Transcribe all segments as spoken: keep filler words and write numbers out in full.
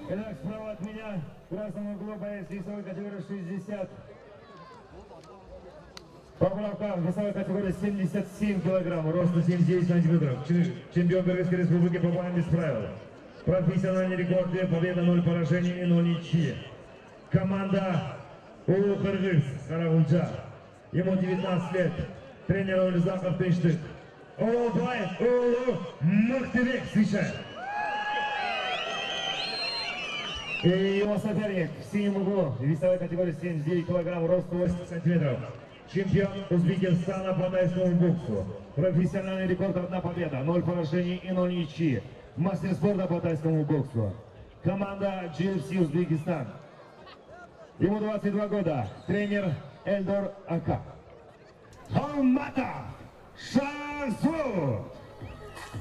Итак, справа от меня, в красном углу боец весовой категории шестьдесят. Поправка весовой категории семьдесят семь килограмм, росту семьдесят девять сантиметров. Чемпион Кыргызской республики по боям без правил. Профессиональный рекорд, победа, ноль поражений и ноль ничьи. Команда Улу Кыргыз Карагунча. Ему девятнадцать лет. Тренер Олизаков Пештык. Оролбай Улу Мыктыбек встречает. И его соперник в синем углу, весовой категории семьдесят девять килограмм, рост восемьдесят сантиметров. Чемпион Узбекистана по тайскому боксу. Профессиональный рекорд, одна победа, ноль поражений и ноль ничьи. Мастер спорта по тайскому боксу. Команда джи эф си Узбекистан. Ему двадцать два года. Тренер Эльдор Ака. Халмата Шахзод.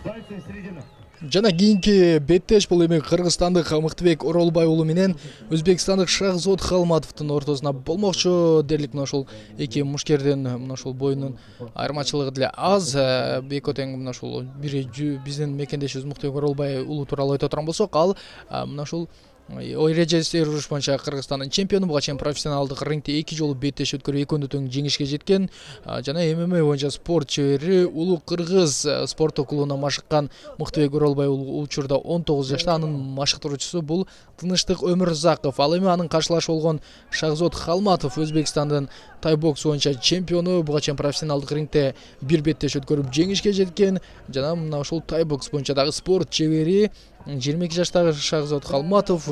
Дальше середина. Жана кийинки беттеш бул эми кыргызстандык Мыктыбек Оролбай уулу менен өзбекстандык Шахзод Халматовдун ортосуна болмокчу дерлик. Мына ушул эки мушкердин мына ушул боюнун айырмачылыгы деле аз. Эки тең мына ушул бири биздин мекендешибиз Мыктыбек Оролбай уулу тууралуу айта турган болсок, ал мына ушул ой эрежеси уруш боюнча Кыргызстандын чемпиону, буга чейин профессионалдык рингде эки жолу беттеш өткөрүп экөөндө тең жеңишке жеткен. Жана эм эм а боюнча спорт чебери Улуу Кыргыз спорттук клубуна машыккан Мыктыбек Оролбай уулу учурда он тогуз жашта. Анын машыктыруучусу бул Тынычтык Өмүрзаков. Ал эми анын каршылашы болгон Шахзод Халматов Өзбекстандын тай бокс боюнча чемпиону, буга чейин профессионалдык рингде бир беттеш өткөрүп жеңишке жеткен. Жана мына ушул тай бокс боюнча дагы спорт чебери жыйырма эки жаштагы Шахзод Халматов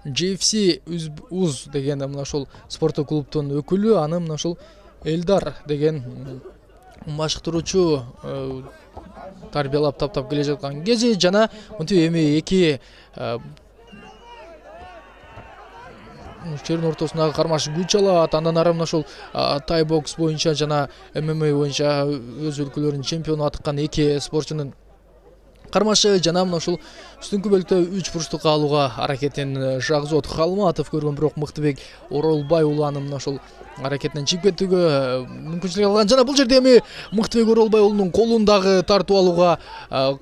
джи эф си уз деген мына ушул спорттук клубдун өкүлү. Аны мына ушул Элдар деген машыктыруучу тарбиялап таптап келе жаткан кези. Жана мынтип эми эки мушкердин ортосундагы кармаш күч алат. Андан ары мына ушул тай бокс боюнча жана эм эм а боюнча өз өлкөлөрүнүн чемпиону атыккан эки спортчунун кармашы. Жана мына ушул үстүңкү бөлүктө үч бурчтукка алууга аракетин Шахзод Халматов көргөн, бирок Мыктыбек Оролбай уулу аны мына ушул аракетинен чыгып кетүүгө мүмкүнчүлүк алган. Жана бул жерде эми Мыктыбек Оролбай уулунун колун дагы тартып алууга,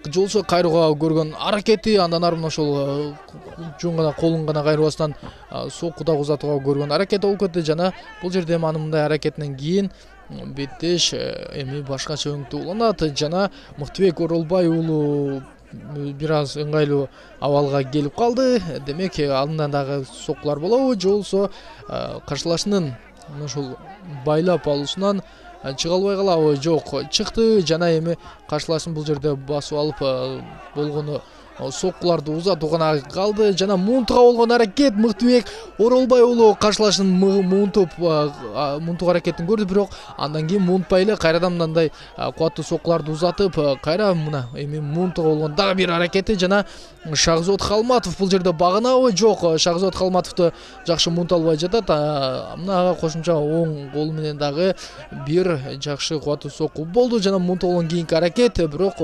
жолсо кайрууга көргөн аракети, андан ары мына ушул жөн гана колун гана кайрыбастан сокку дагы узатууга көргөн аракети болуп кетти. Жана бул жерде эми анын мындай аракетинен кийин беттеш эми башкача өңүттүү уланат. Жана Мыктыбек Оролбай уулу бир аз ыңгайлуу абалга келип калды. Демек алдынан дагы соккулар болобу, же болбосо каршылашынын ушул байлап алуусунан чыга албай калабы? Жок, чыкты. Жана эми каршылашын бул жерде басып алып болгону соккуларды узатуу гана калды. Жана муунтуга болгон аракет Мыктыбек Оролбай уулу каршылашын муунтуп муунтук аракетин көрдү, бирок андан кийин муунтпай эле кайрадан мындай кубаттуу соккуларды узатып кайра мына эми муунтуга болгон дагы бир аракети. Жана Шахзод Халматов бул жерде багынабы? Жок, Шахзод Халматовду жакшы муунта албай жатат. Мына кошумча оң колу менен дагы бир жакшы кубаттуу сокку болду. Жана муунта болгон кийинки аракет, бирок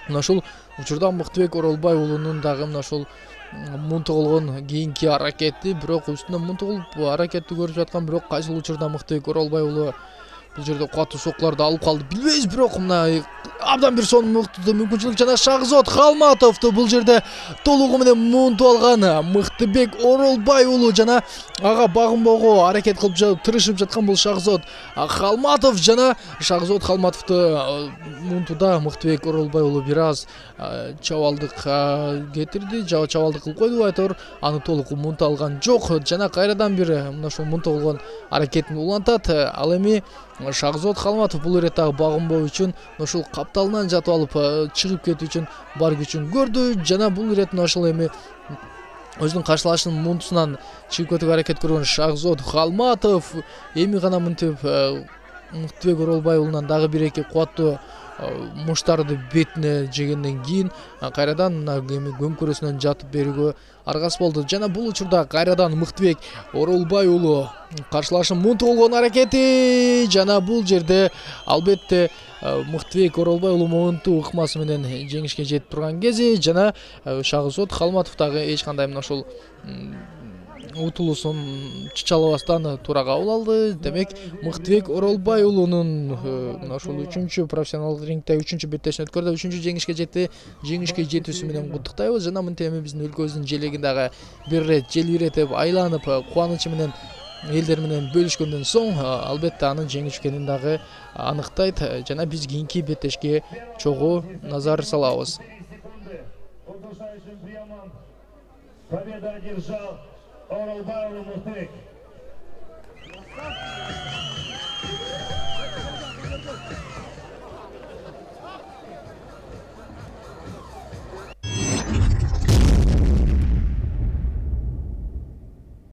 мына ушул учурда Мыктыбек Оролбай уулунун дагы мына ушул муунтук болгон кийинки аракети, бирок үстүнөн муунтук болуп аракетти көрүп жаткан. Бирок кайсыл учурда Мыктыбек Оролбай уулу бул жерде кубаттуу соккуларды алып калды билбейбиз, бирок мына абдан бир сонун мүмкүнчүлүк. Жана Шахзод Халматовду бул жерде толугу менен муунтуп алган Мыктыбек Оролбай уулу. Жана ага багынбоого аракет кылып тырышып жаткан бул Шахзод Халматов. Жана Шахзод Халматовду муунтууда Мыктыбек Оролбай уулу бир аз чабалдык кетирди, жаба чабалдык кылып койду. Айтор аны толук муунта алган жок. Жана кайрадан бир мына ушул муунта болгон аракетин улантат. Ал эми Шахзод Халматов бул ирет дагы багынбоо үчүн ушул капталынан жатып алып чыгып кетүү үчүн бар күчүн көрдү. Жана бул ирет ушул эми өзүнүн каршылашынын муунтусунан чыгып кетүүгө аракет көргөн Шахзод Халматов эми гана мынтип Мыктыбек Оролбай уулунан дагы бир эки кубаттуу муштарды бетине жегенден кийин кайрадан эми көмкөрөсүнөн жатып берүүгө аргасыз болду. Жана бул учурда кайрадан Мыктыбек Оролбай уулу каршылашын муунтук болгон аракети. Жана бул жерде албетте Мыктыбек Оролбай уулу муунтуу ыкмасы менен жеңишке жетип турган кези. Жана Шахзод Халматов дагы эч кандай мына ушул утулуусун чычалабастан туура кабыл алды. Демек Мыктыбек Оролбай уулунун мына ушул үчүнчү профессионалдык рингде үчүнчү беттешин өткөрдү, үчүнчү жеңишке жетти. Жеңишке жетүүсү менен куттуктайбыз жана мынтип эми биздин өлкөбүздүн желегин дагы бир ирет желбиретип, айланып, кубанычы менен элдер менен бөлүшкөндөн соң албетте анын жеңүү экенин дагы аныктайт жана биз кийинки беттешке чогуу назар салабыз. Победа одержал Оролбай Мыктыбек.